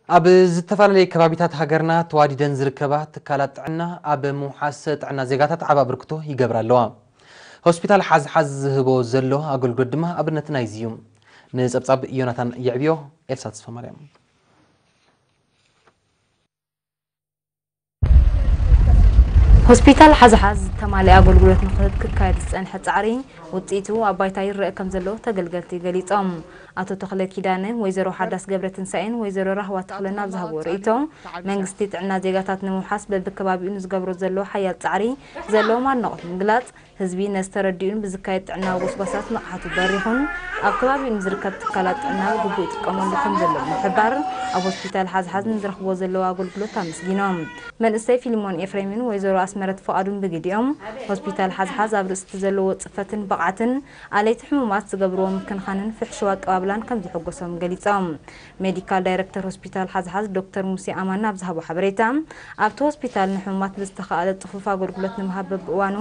ኣብ ዝተፈላለየ ከባቢታት ሃገርና ተዋዲደን ዝርከባ ትካላት ጥዕና ኣብ ምውሓስ ጥዕና ዜጋታት ዓቢ ኣበርክቶ ይገብራ ኣለዋ። ሆስፒታል ሓዝሓዝ ዝህቦ ዘሎ ኣገልግሎት ድማ ኣብነት ናይዚ እዩ። ንጸብጻብ ዮናታን የዕብዮ፣ ኤልሳ ተስፋማርያም። ሆስፒታል ሓዝሓዝ ዝተማልአ ኣገልግሎት ንክህብ ክካየድ ዝጸንሐ ጻዕሪ ውጽኢቱ ኣብ ባይታ ይረአ ከም ዘሎ ተገልገልቲ ገሊጾም። ኣቶ ተኽለ ኪዳነ፣ ወይዘሮ ሓዳስ ገብረትንሳኤን ወይዘሮ ራህዋ ተኽለን ኣብ ዝሃብዎ ርእይቶ፣ መንግስቲ ጥዕና ዜጋታት ንምውሓስ በብከባቢኡ ንዝገብሮ ዘሎ ሓያል ጻዕሪ ዘለዎም ኣድናቖት ምግላጽ፣ ህዝቢ ነዚ ተረዲኡን ብዝካየድ ጥዕናዊ ጎስጓሳት ንቕሓቱ በሪኹን ኣብ ከባቢኡ ንዝርከብ ትካላት ጥዕና ብግቡእ ይጥቀመሉ ከም ዘሎ ብምሕባር፣ ኣብ ሆስፒታል ሓዝሓዝ ንዝረኽብዎ ዘለዉ ኣገልግሎት ኣመስጊኖም። መንእሰይ ፊልሞን ኤፍሬምን ወይዘሮ ኣስመረት ፍቓዱን ብግዲኦም፣ ሆስፒታል ሓዝሓዝ ኣብ ርእሲ እቲ ዘለዎ ጽፈትን ብቕዓትን ኣለይቲ ሕሙማት ዝገብርዎ ምክንኻንን ፍሕሽው ኣቀባብላን ከም ዘሐጎሶም ገሊጾም። ሜዲካል ዳይረክተር ሆስፒታል ሓዝሓዝ ዶክተር ሙሴ ኣማን ኣብ ዝሃቦ ሓበሬታ፣ ኣብቲ ሆስፒታል ንሕሙማት ብዝተኻእለ ጽፉፍ ኣገልግሎት ንምሃብ በብእዋኑ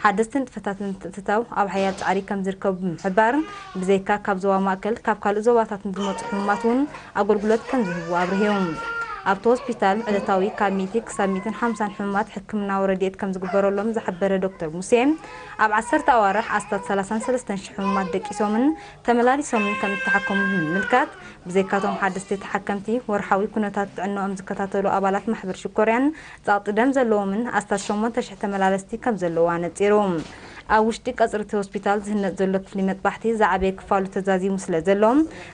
ሓደስቲ ንጥፈታት ንምትእትታው ኣብ ሓያል ጻዕሪ ከም ዝርከቡ ብምሕባር፣ ብዘይካ ካብ ዞባ ማእከል፣ ካብ ካልእ ዞባታት ንዝመጹ ሕሙማት እውን ኣገልግሎት ከም ዝህቡ ኣብርሂዎም። ኣብቲ ሆስፒታል ዕለታዊ ካብ ሚእቲ ክሳብ ሚእትን ሓምሳን ሕሙማት ሕክምናዊ ረድኤት ከም ዝግበረሎም ዝሓበረ ዶክተር ሙሴ፣ ኣብ ዓሰርተ ኣዋርሕ ኣስታት ሰላሳን ሰለስተን ሽሕ ሕሙማት ደቂሶምን ተመላሊሶምን ከም እተሓከሙ ብምምልካት፣ ብዘይካቶም ሓደስቲ ተሓከምቲ ወርሓዊ ኩነታት ጥዕናኦም ዝከታተሉ ኣባላት ማሕበር ሽኮርያን ጸቕጢ ደም ዘለዎምን ኣስታት ሸሞንተ ሽሕ ተመላለስቲ ከም ዘለዉ ኣነጺሩ። ኣብ ውሽጢ ቀጽሪ እቲ ሆስፒታል ዝህነጽ ዘሎ ክፍሊ መጥባሕቲ ዝዓበየ ክፋሉ ተዛዚሙ ስለ ዘሎ፣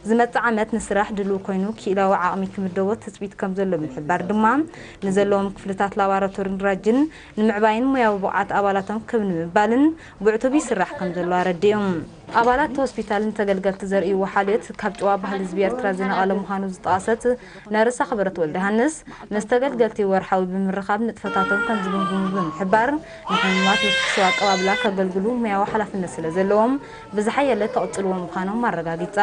ዝመጽእ ዓመት ንስራሕ ድሉው ኮይኑ ክኢላዊ ዓቕሚ ክምደቦ ትጽቢት ከም ዘሎ ብምሕባር ድማ፣ ንዘለዎም ክፍልታት ላቦራቶሪን ራጅን ንምዕባይን ሞያዊ ብቕዓት ኣባላቶም ክብ ንምባልን ብዕቱብ ይስራሕ ከም ዘሎ ኣረዲኡ። ኣባላት እቲ ሆስፒታል ንተገልገልቲ ዘርእይዎ ሓልዮት ካብ ጭዋ ባህሊ ህዝቢ ኤርትራ ዝነቐለ ምዃኑ ዝጠቐሰት ነርስ ኣኽብረት ወልደሃንስ፣ ምስ ተገልገልቲ ወርሓዊ ብምርኻብ ንጥፈታቶም ከም ዝግምግሙ ብምሕባር፣ ንሕሙማት ብፍሕሽው ኣቀባብላ ከገልግሉ ሞያዊ ሓላፍነት ስለ ዘለዎም፣ ብዝሓየለ ክቕጽልዎ ምዃኖም ኣረጋጊጻ።